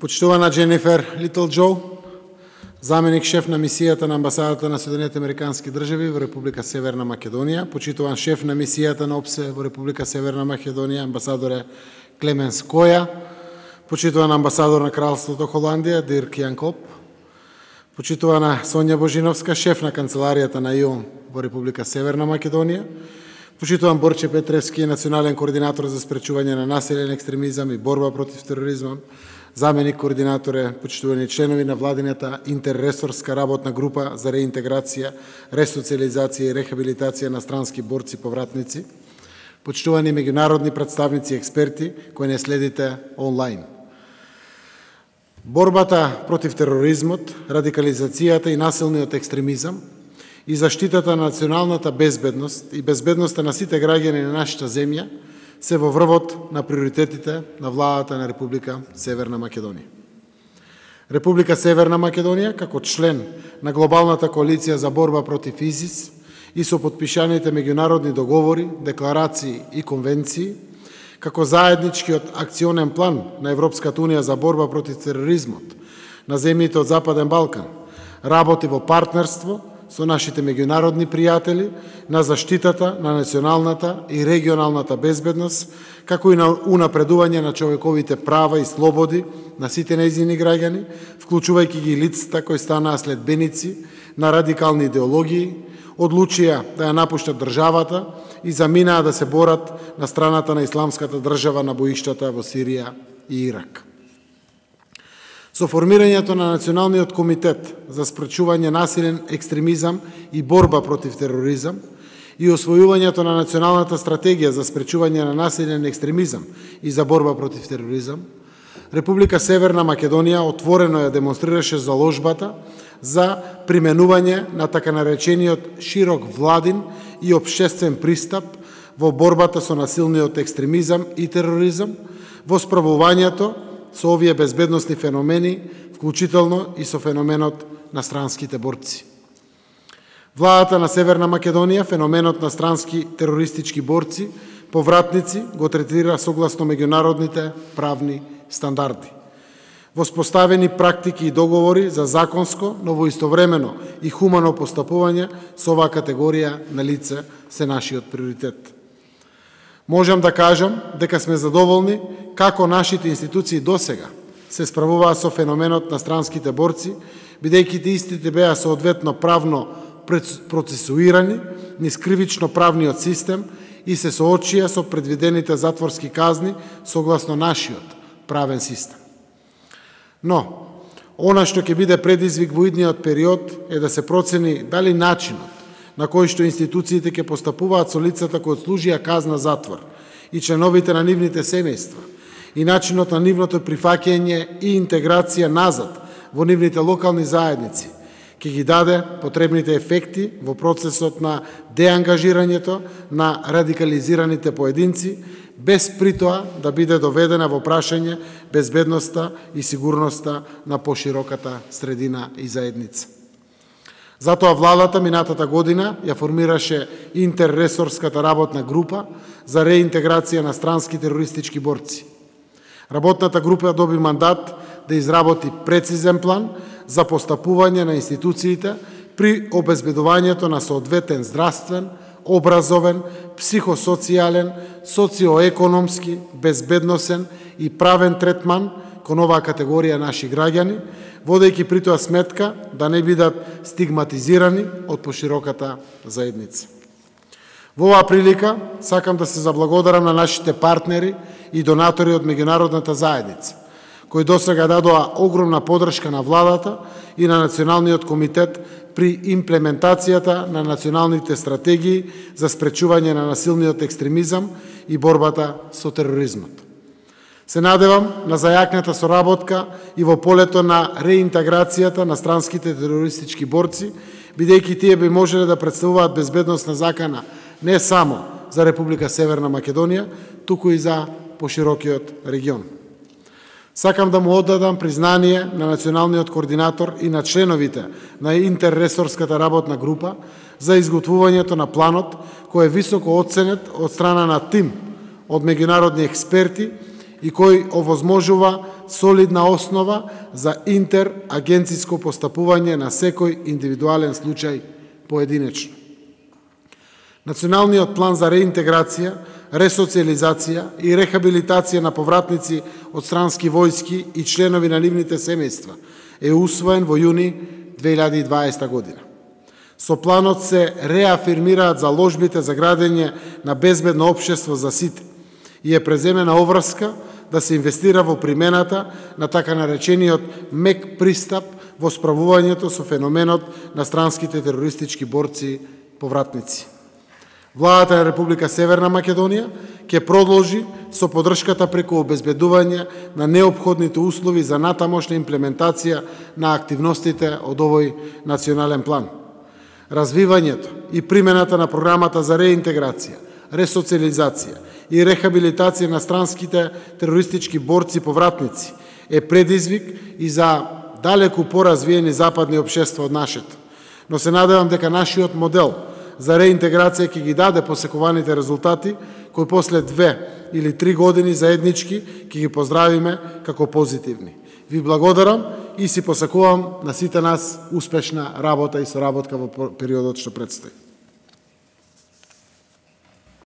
Почитувана Дженифер Литл Джо, заменик шеф на мисијата на амбасадата на Соединетите Американски држави во Република Северна Македонија, почитуван шеф на мисијата на ОПСЕ во Република Северна Македонија, амбасадоре Клеменс Која, почитуван амбасадор на Кралството Холандија, Дирк Јанкоп, почитувана Сонја Божиновска, шеф на канцеларијата на ИОМ во Република Северна Македонија, почитуван Борче Петревски, национален координатор за спречување на насилен екстремизам и борба против тероризмом, заменик координатор е почитувани членови на владината интерресорска работна група за реинтеграција, ресоциализација и рехабилитација на странски борци повратници, почитувани меѓународни представници и експерти кои не следите онлайн. Борбата против тероризмот, радикализацијата и насилниот екстремизам и заштитата на националната безбедност и безбедноста на сите граѓани на нашата земја се во врвот на приоритетите на владата на Република Северна Македонија. Република Северна Македонија, како член на глобалната коалиција за борба против ИСИС и со потпишаните меѓународни договори, декларации и конвенции, како заедничкиот акционен план на Европската унија за борба против тероризмот на земјите од Западен Балкан, работи во партнерство со нашите меѓународни пријатели на заштитата на националната и регионалната безбедност, како и на унапредување на човековите права и слободи на сите нејзини граѓани, вклучувајќи ги лицата кои станаа следбеници на радикални идеологии, одлучија да ја напуштат државата и заминаа да се борат на страната на исламската држава на боиштата во Сирија и Ирак. Со формирањето на Националниот комитет за спречување насилен екстремизам и борба против тероризам и освојувањето на Националната стратегија за спречување на насилен екстремизам и за борба против тероризам, Република Северна Македонија отворено ја демонстрираше заложбата за применување на така наречениот широк владин и општествен пристап во борбата со насилниот екстремизам и тероризам, во справувањето со овие безбедносни феномени, вклучително и со феноменот на странските борци. Владата на Северна Македонија феноменот на странски терористички борци, повратници, го третира согласно меѓународните правни стандарди. Воспоставени практики и договори за законско, но во истовремено и хумано постапување со оваа категорија на лице се нашиот приоритет. Можам да кажам дека сме задоволни како нашите институции досега се справуваа со феноменот на странските борци, бидејќи истите беа соодветно правно процесуирани низ кривично правниот систем и се соочија со предвидените затворски казни согласно нашиот правен систем. Но, она што ќе биде предизвик во идниот период е да се процени дали начинот на кој што институциите ќе постапуваат со лицата кои отслужија казна затвор и членовите на нивните семејства и начинот на нивното прифаќање и интеграција назад во нивните локални заедници ќе ги даде потребните ефекти во процесот на деангажирањето на радикализираните поединци, без притоа да биде доведена во прашање безбедноста и сигурноста на пошироката средина и заедница. Затоа владата минатата година ја формираше интерресорската работна група за реинтеграција на странски терористички борци. Работната група доби мандат да изработи прецизен план за постапување на институциите при обезбедувањето на соодветен здравствен, образовен, психосоцијален, социоекономски, безбедносен и правен третман кон оваа категорија наши граѓани, водејќи при тоа сметка да не бидат стигматизирани од пошироката заедница. Во оваа прилика сакам да се заблагодарам на нашите партнери и донатори од меѓународната заедница, кои досега дадоа огромна подршка на владата и на Националниот комитет при имплементацијата на националните стратегии за спречување на насилниот екстремизам и борбата со тероризмот. Се надевам на зајакната соработка и во полето на реинтеграцијата на странските терористички борци, бидејќи тие би можеле да представуваат безбедносна закана не само за Република Северна Македонија, туку и за поширокиот регион. Сакам да му оддадам признание на националниот координатор и на членовите на интерресорската работна група за изготвувањето на планот, кој е високо оценет од страна на тим од меѓународни експерти и кој овозможува солидна основа за интерагенциско постапување на секој индивидуален случај поединечно. Националниот план за реинтеграција, ресоциализација и рехабилитација на повратници од странски војски и членови на нивните семејства е усвоен во јуни 2020 година. Со планот се реафирмираат заложбите за градење на безбедно општество за сите и е преземена обврска да се инвестира во примената на така наречениот мек пристап во справувањето со феноменот на странските терористички борци повратници. Владата на Република Северна Македонија ќе продолжи со поддршката преку обезбедување на неопходните услови за натамошна имплементација на активностите од овој национален план. Развивањето и примената на програмата за реинтеграција, ресоциализација и рехабилитација на странските терористички борци повратници е предизвик и за далеку поразвиени западни општества од нашето. Но се надевам дека нашиот модел за реинтеграција ќе ги даде посекуваните резултати, кои после 2 или 3 години заеднички ќе ги поздравиме како позитивни. Ви благодарам и си посакувам на сите нас успешна работа и соработка во периодот што предстои.